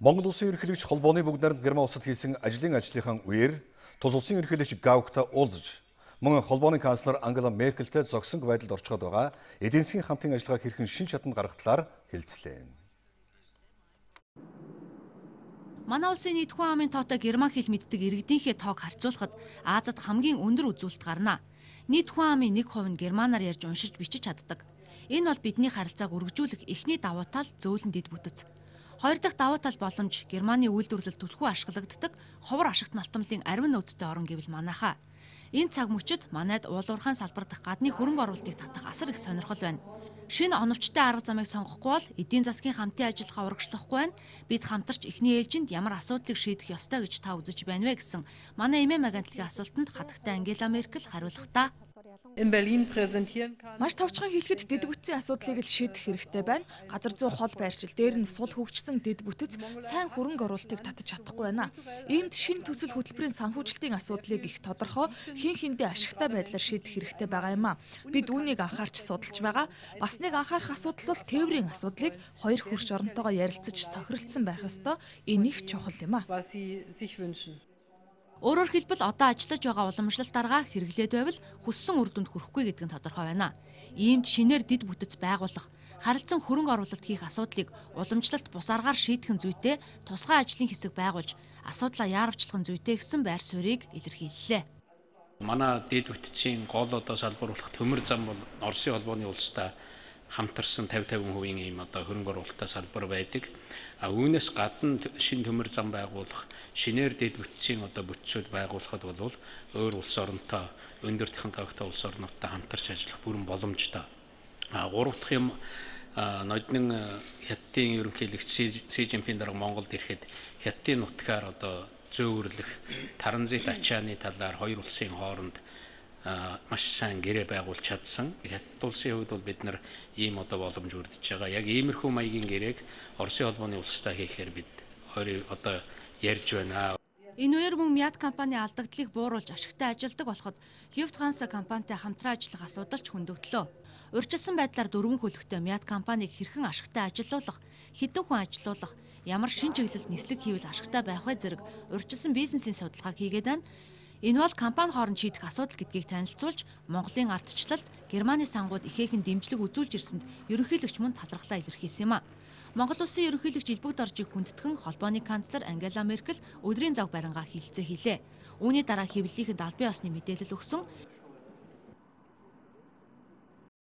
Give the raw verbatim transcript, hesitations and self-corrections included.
Монгол Улсын ерөнхийлөгч холбооны бүгд найрамд Герман улсад хийсэн ажлын ажлынхан үеэр тус улсын ерөнхийлөгч Гаухтай уулзаж, мөн холбооны канцлер Ангела Меркельтэй зогсонг байдалд орчход байгаа эдийн засгийн хамтын ажиллагааг хэрхэн шин шатанд гаргах талаар хэлцлээ. Манай улсын нийт хүн амын тоотой герман хэл мэддэг иргэдийнхээ тоог харьцуулахад Азад хамгийн өндөр үзүүлэлт гарна. Нийт хүн амын нэг хувь нь германаар ярьж уншиж бичиж чаддаг. Энэ бол бидний харилцааг өргөжүүлэх эхний давуу тал зөөлөн дэд бүтэц. Хоёр дахь давуу тал боломж Германы үйлдвэрлэл түлхүү ашиглагддаг ховор ашигт малтамлын арвин нөөцтэй орн гэвэл манайхаа. Энэ цаг мөчид манайд уулуурхайн салбар дахь гадны хөрөнгө оруулалтыг татах асар их сонирхол байна. Шинэ оновчтой арга замыг сонгохгүй бол эдийн засгийн хамтын ажиллагаа урагшлахгүй байна. Бид хамтарч эхний ээлжинд ямар асуудлыг шийдэх ёстой гэж та үзэж байна вэ гэсэн манай эмээ Магантлгийн асуултанд хатагтай Ангела Меркель хариулахдаа Маш товчхон хэлэхэд дэд бүтцийн асуудлыг л шийдэх хэрэгтэй байна. Газар зүй хол байршил дээр нь сул хөгжсөн дэд бүтэц сайн хөрөнгө оруулалтыг татаж чадахгүй байна. Иймд шинэ төсөл хөтөлбөрийн санхүүжилтийн асуудлыг их тодорхой хин хиндээ ашигтай байдлаар шийдэх хэрэгтэй байгаа юм а. Бид үүнийг анхаарч судалж байгаа. Бас нэг анхаарах асуудал бол тээврийн асуудлыг хоёр хөрш оронтойгоо ярилцаж тохиролцсон байх ёстой. Энэ их чухал юм а. Өөрөөр хэлбэл одоо ажиллаж байгаа уламжлалт дарга хэрэглээд байвал хүссэн үр дүнд хүрэхгүй гэдэг нь тодорхой байна. Иймд шинээр дэд бүтэц байгуулах, харилцан хөрөнгө оруулалт хийх асуудлыг уламжлалт бус аргаар шийдэх зүйтэй тусгай ажлын хэсэг байгуулж, асуудлаа яарвчлах зүйтэй гэсэн байр суурийг илэрхийллээ. Манай дэд бүтцийн гол одоо салбар болох төмөр зам бол Оросын холбооны улстай хамтарсан пятьдесят процент ийм одоо хөрөнгө оруулалттай салбар байдаг. А үүнээс гадна шинэ төмөр зам байгуулах, шинээр дэд бүтцийн одоо бүтцүүд байгуулахад бол өөр улс оронтой, өндөр технологитой улс орнуудтай хамтарч ажиллах бүрэн боломжтой. А гурав дахь юм ноднын хятадын ерөнхийлөгч Си Жинпин дарга Монголд ирэхэд хятадын нутгаар одоо зөөвөрлөх, транзит ачааны талаар хоёр улсын хооронд маш сайн гэрээ байгуулж чадсан. Хятад улсын хувьд бол бид нар ийм одоо боломж үрдэж байгаа. Яг иймэрхүү маягийн гэрээг Оросын холбооны улстай хийхээр бид хоёр одоо ярьж байна. Энэ үеэр мөн Мят компани алдагдлыг бууруулж ашигтай ажилдаг болоход Люфтханса компанитай хамтран ажиллах асуудал ч хөндөгдлөө. Урьдчилсан байдлаар дөрвөн хөлөгтэй Мят компанийг хэрхэн ашигтай ажилуулах, хэдэн хүн ажилуулах, ямар шин чиглэлд нислэг хийвэл ашигтай байх вэ зэрэг урьдчилсан бизнесийн судалгааг хийгээд байна. Энэ бол компани хооронд шийдэх асуудал гэдгийг танилцуулж, Монголын ардчлалд Германы сангууд ихээхэн дэмжлэг үзүүлж ирсэнд ерөнхийлөгч мөн талархлаа илэрхийлсэн юм а. Монгол улсын ерөнхийлөгч Илбэг Доржийг хүндэтгэн холбооны канцлер Ангела Меркель өдрийн зог барингаа хэлэлцээ хийлээ. Үүний дараа хэвлэлийнхэнд албан ёсны мэдээлэл өгсөн.